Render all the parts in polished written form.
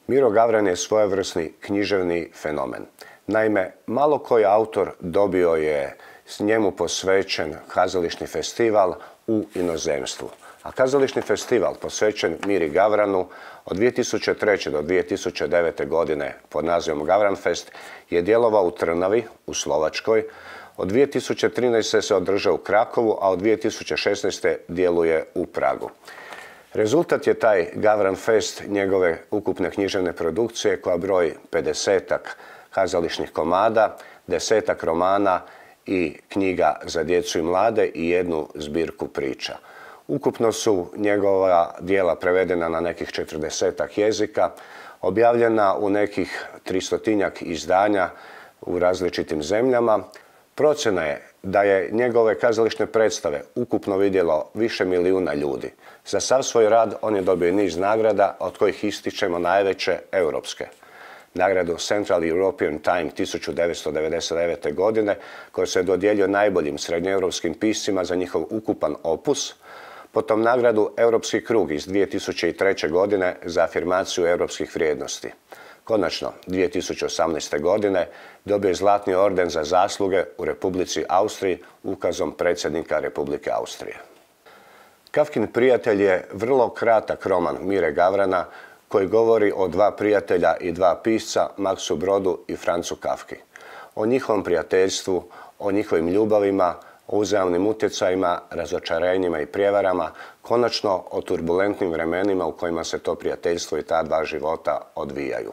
Miro Gavran je svojevrsni književni fenomen. Naime, malo koji autor dobio je s njemu posvećen kazališni festival u inozemstvu. A kazališni festival posvećen Miri Gavranu od 2003. do 2009. godine pod nazivom Gavranfest je djelovao u Trnavi, u Slovačkoj. Od 2013. se održao u Krakovu, a od 2016. djeluje u Pragu. Rezultat je taj Gavranfest, njegove ukupne književne produkcije koja broji 50-ak kazališnih komada, 10-ak romana i knjiga za djecu i mlade i jednu zbirku priča. Ukupno su njegova djela prevedena na nekih 40-ak jezika, objavljena u nekih 300-tinjak izdanja u različitim zemljama. Procjena je da je njegove kazališne predstave ukupno vidjelo više milijuna ljudi. Za sav svoj rad on je dobio niz nagrada, od kojih ističemo najveće europske. Nagradu Central European Time 1999. godine, koja se dodjeljuje najboljim srednjoeuropskim piscima za njihov ukupan opus, potom nagradu Europski krug iz 2003. godine za afirmaciju europskih vrijednosti. Konačno, 2018. godine dobio je Zlatni orden za zasluge u Republici Austriji ukazom predsjednika Republike Austrije. Kafkin prijatelj je vrlo kratak roman Mire Gavrana koji govori o dva prijatelja i dva pisca, Maksu Brodu i Francu Kafki. O njihovom prijateljstvu, o njihovim ljubavima, o uzajamnim utjecajima, razočarenjima i prijevarama, konačno o turbulentnim vremenima u kojima se to prijateljstvo i ta dva života odvijaju.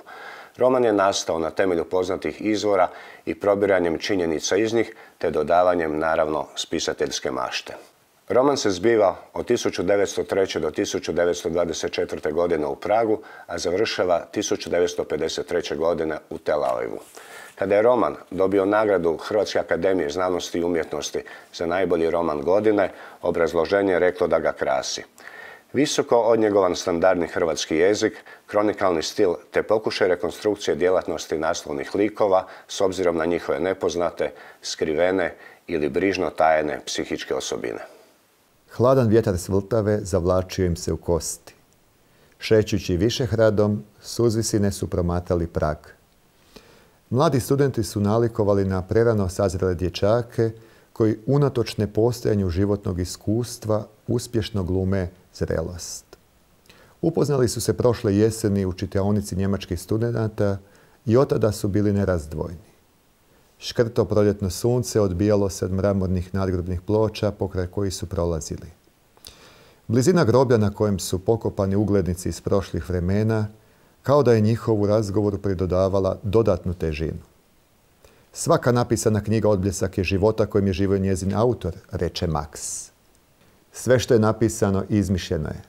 Roman je nastao na temelju poznatih izvora i probiranjem činjenica iz njih, te dodavanjem, naravno, spisateljske mašte. Roman se zbiva od 1903. do 1924. godine u Pragu, a završava 1953. godine u Tel Avivu. Kada je roman dobio nagradu Hrvatske akademije znanosti i umjetnosti za najbolji roman godine, obrazloženje je reklo da ga krasi. Visoko odnjegovan standardni hrvatski jezik, kronikalni stil te pokušaj rekonstrukcije djelatnosti naslovnih likova s obzirom na njihove nepoznate, skrivene ili brižno tajene psihičke osobine. Hladan vjetar s Vltave zavlačio im se u kosti. Šećući Višehradom, s uzvisine su promatali Prag. Mladi studenti su nalikovali na prerano sazrele dječake koji unatoč nepostojanju životnog iskustva uspješno glume zrelost. Upoznali su se prošle jeseni u čitaonici njemačkih studenata i otada su bili nerazdvojni. Škrto proljetno sunce odbijalo se od mramornih nadgrobnih ploča pokraj kojih su prolazili. Blizina groblja na kojem su pokopani uglednici iz prošlih vremena kao da je njihovu razgovoru pridodavala dodatnu težinu. Svaka napisana knjiga odbljesak je života kojim je živio njezin autor, reče Max. Sve što je napisano izmišljeno je.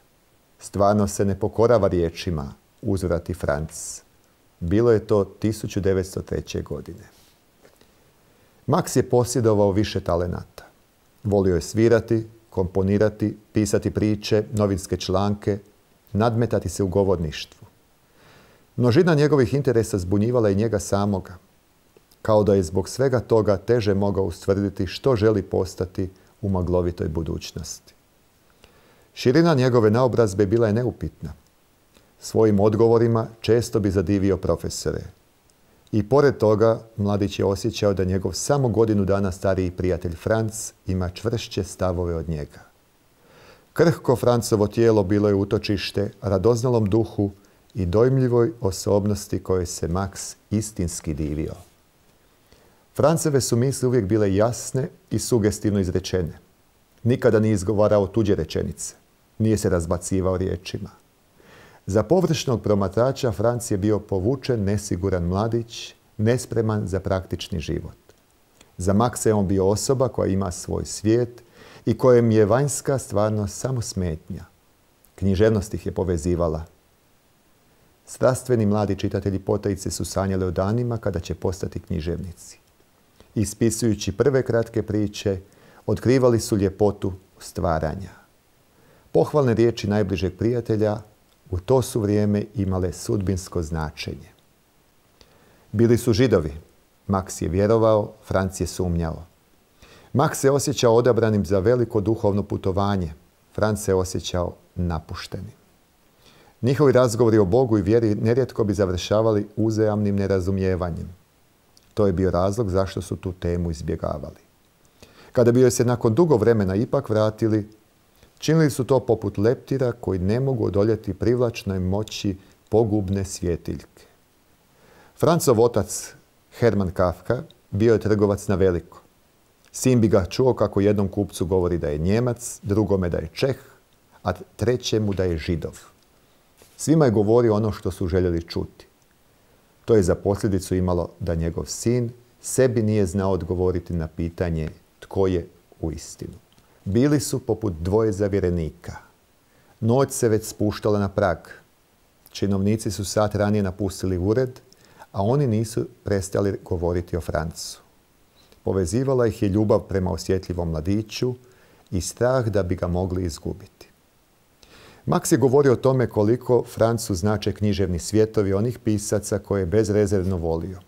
Stvarno se ne pokorava riječima, uzvrati Franc. Bilo je to 1903. godine. Max je posjedovao više talenata. Volio je svirati, komponirati, pisati priče, novinske članke, nadmetati se u govorništvu. Množina njegovih interesa zbunjivala i njega samoga, kao da je zbog svega toga teže mogao ustvrditi što želi postati u maglovitoj budućnosti. Širina njegove naobrazbe bila je neupitna. Svojim odgovorima često bi zadivio profesore. I pored toga, mladić je osjećao da njegov samo godinu dana stariji prijatelj Franc ima čvršće stavove od njega. Krhko Francovo tijelo bilo je utočište radoznalom duhu i dojmljivoj osobnosti kojoj se Max istinski divio. Franceve su misli uvijek bile jasne i sugestivno izrečene. Nikada nije izgovarao tuđe rečenice. Nije se razbacivao riječima. Za površnog promatrača Franc je bio povučen, nesiguran mladić, nespreman za praktični život. Za Maxa je on bio osoba koja ima svoj svijet i kojem je vanjska stvarnost samo smetnja. Književnost ih je povezivala. Strastveni mladi čitatelji potajice su sanjali o danima kada će postati književnici. Ispisujući prve kratke priče, otkrivali su ljepotu stvaranja. Pohvalne riječi najbližeg prijatelja u to su vrijeme imale sudbinsko značenje. Bili su Židovi. Max je vjerovao, Franc je sumnjao. Max se osjećao odabranim za veliko duhovno putovanje. Franc se osjećao napuštenim. Njihovi razgovori o Bogu i vjeri nerijetko bi završavali uzajamnim nerazumijevanjem. To je bio razlog zašto su tu temu izbjegavali. Kada bi joj se nakon dugo vremena ipak vratili, činili su to poput leptira koji ne mogu odoljeti privlačnoj moći pogubne svjetiljke. Francov otac, Hermann Kafka, bio je trgovac na veliko. Sin bi ga čuo kako jednom kupcu govori da je Njemac, drugome da je Čeh, a trećemu da je Židov. Svima je govorio ono što su željeli čuti. To je za posljedicu imalo da njegov sin sebi nije znao odgovoriti na pitanje tko je uistinu. Bili su poput dvoje zavjerenika. Noć se već spuštala na prag. Činovnici su sat ranije napustili ured, a oni nisu prestali govoriti o Francu. Povezivala ih je ljubav prema osjetljivom mladiću i strah da bi ga mogli izgubiti. Max je govorio o tome koliko Francu znače književni svjetovi onih pisaca koje je bezrezervno volio.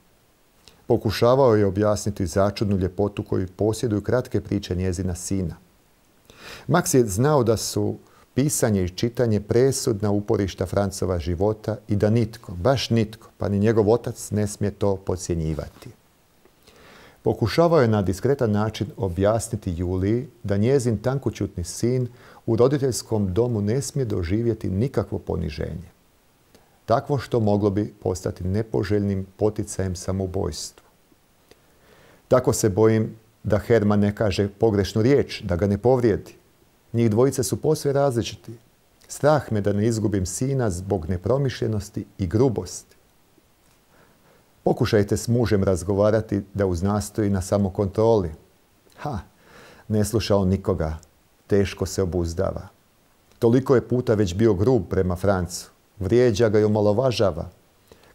Pokušavao je objasniti začudnu ljepotu koju posjeduju kratke priče njezina sina. Max je znao da su pisanje i čitanje presudna uporišta Francova života i da nitko, baš nitko, pa ni njegov otac ne smije to podcjenjivati. Pokušavao je na diskretan način objasniti Juliji da njezin tankoćutni sin u roditeljskom domu ne smije doživjeti nikakvo poniženje. Takvo što moglo bi postati nepoželjnim poticajem samoubojstvu. Tako se bojim da Herman ne kaže pogrešnu riječ, da ga ne povrijedi. Njih dvojice su posve različiti. Strah me da ne izgubim sina zbog nepromišljenosti i grubosti. Pokušajte s mužem razgovarati da uznastoji na samokontroli. Ne sluša on nikoga. Teško se obuzdava. Toliko je puta već bio grub prema Francu. Vrijeđa ga i omalovažava.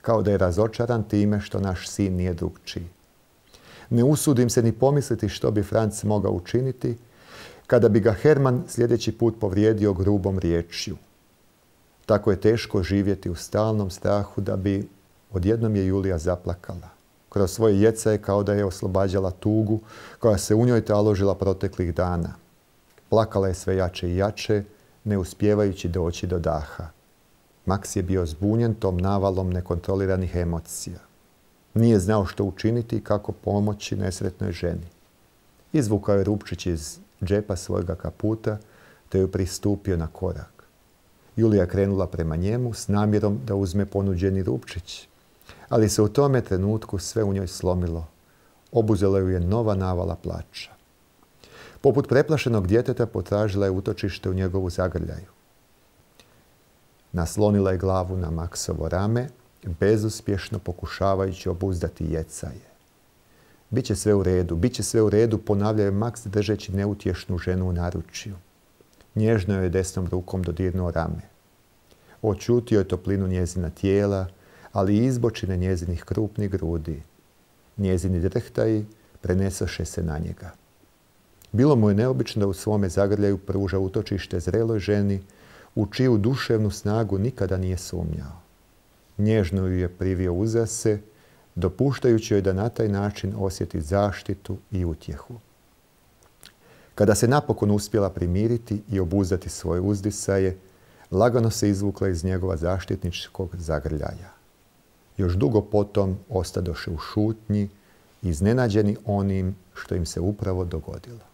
Kao da je razočaran time što naš sin nije drukčiji. Ne usudim se ni pomisliti što bi Franc mogao učiniti kada bi ga Herman sljedeći put povrijedio grubom riječju. Tako je teško živjeti u stalnom strahu da bi odjednom je Julija zaplakala. Kroz svoje jecaje kao da je oslobađala tugu koja se u njoj taložila proteklih dana. Plakala je sve jače i jače, ne uspijevajući doći do daha. Max je bio zbunjen tom navalom nekontroliranih emocija. Nije znao što učiniti i kako pomoći nesretnoj ženi. Izvukao je rupčić iz džepa svojega kaputa te ju pristupio na korak. Julija krenula prema njemu s namjerom da uzme ponuđeni rupčić, ali se u tome trenutku sve u njoj slomilo. Obuzela ju je nova navala plača. Poput preplašenog djeteta potražila je utočište u njegovu zagrljaju. Naslonila je glavu na Maxovo rame, bezuspješno pokušavajući obuzdati jecaje. Biće sve u redu, bit će sve u redu, ponavljao je Max držeći neutješnu ženu u naručju. Nježno joj je desnom rukom dodirnuo rame. Očutio je toplinu njezina tijela, ali i izbočine njezinih krupnih grudi. Njezini drhtaji prenesoše se na njega. Bilo mu je neobično da u svome zagrljaju pruža utočište zreloj ženi u čiju duševnu snagu nikada nije sumnjao. Nježno ju je privio uza se, dopuštajući joj da na taj način osjeti zaštitu i utjehu. Kada se napokon uspjela primiriti i obuzdati svoje uzdisaje, lagano se izvukla iz njegova zaštitničkog zagrljaja. Još dugo potom ostadoše u šutnji, iznenađeni onim što im se upravo dogodilo.